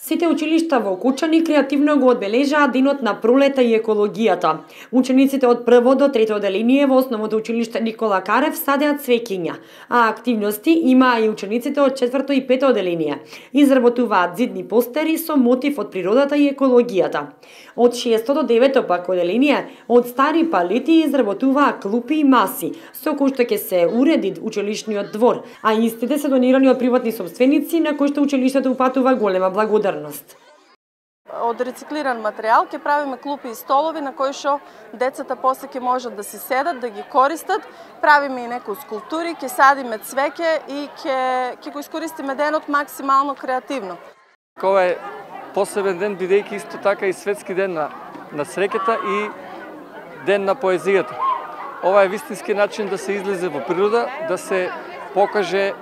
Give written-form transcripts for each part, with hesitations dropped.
Сите училишта во Кочани креативно го одбележаа денот на пролета и екологијата. Учениците од прво до трето одделение во основното училиште Никола Карев садеа цвеќиња, а активности имаа и учениците од четврто и пето одделение. Изработуваат зидни постери со мотив од природата и екологијата. Од 6 до 9 пак одделение од стари палети изработуваа клупи и маси, со кои што ќе се уреди училишниот двор, а истите се донирани од приватни собственици на кои што училиштето упатува голема благодарност. Од рециклиран материјал ќе правиме клупи и столови на кои што децата после ќе можат да си седат, да ги користат. Правиме и некои скулптури, ќе садиме цвеќе и ќе го искористиме денот максимално креативно. Ова е посебен ден, бидејќи исто така и светски ден на среќата и ден на поезијата. Ова е вистински начин да се излезе во природа, да се покаже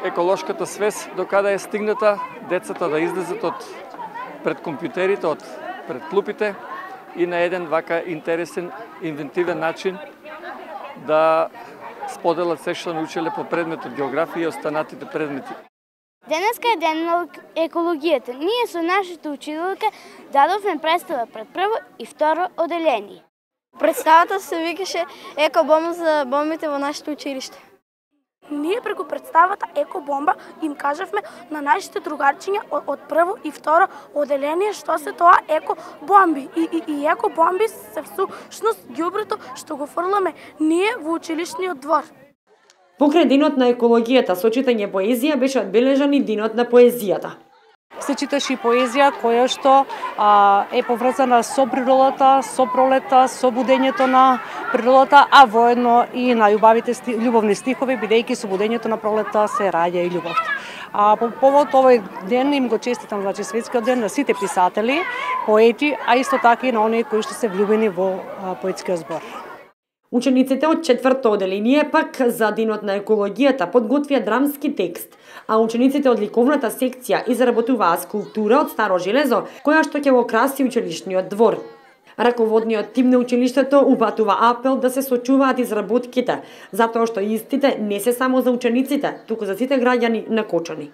еколошката свест до каде е стигната, децата да излезат од пред компјутерите, од пред клупите и на еден вака интересен, инвентивен начин да споделат се што научиле по предметот географија и останатите предмети. Денеска е ден на екологијата. Ние со нашите учителка дадовме представа пред прво и второ одделение. Представата се викаше екобомба за бомбите во нашето училиште. Ние преку представата екобомба им кажавме на нашите другарчиња од прво и второ одделение што се тоа екобомби. И екобомби се всушност ѓубрето што го фрламе ние во училишниот двор. Покрај денот на екологијата со читање поезија беше одбележан и денот на поезијата. Се читаше и поезија која што е поврзана со природата, со пролета, со будењето на природата, а воедно и најубавите љубовни стихови, бидејќи со будењето на пролета се раѓа и љубовта. По повод овој ден им го честитам, значи светскиот ден на сите писатели, поети, а исто така и на оние кои што се влюбени во поетскиот збор. Учениците од четврто одделение пак за денот на екологијата подготвија драмски текст, а учениците од ликовната секција изработуваа скулптура од старо железо, која што ќе го краси училишниот двор. Раководниот тим на училиштето упатува апел да се сочуваат изработките, затоа што истите не се само за учениците, туку за сите граѓани на Кочани.